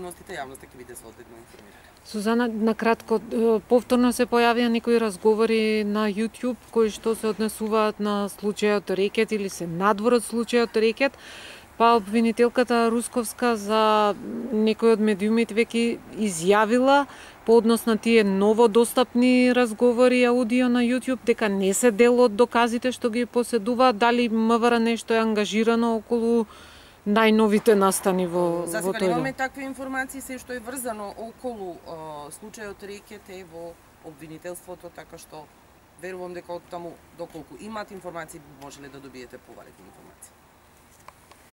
подробностите јавноста ќе биде соодветно информирана. Сузана, на кратко, повторно се појавија некои разговори на YouTube кои што се однесуваат на случајот Рекет или се надвор од случајот Рекет, па обвинителката Русковска за некои од медиумите веќе изјавила по однос на тие новодостапни разговори аудио на YouTube дека не се дел од доказите што ги поседува. Дали МВР нешто е ангажирано околу најновите настани во За тој сега дел? немаме такви информации, се што е врзано околу случајот Рекет е во обвинителството, така што верувам дека од таму доколку имаат информации можеле да добиете повалетни информации.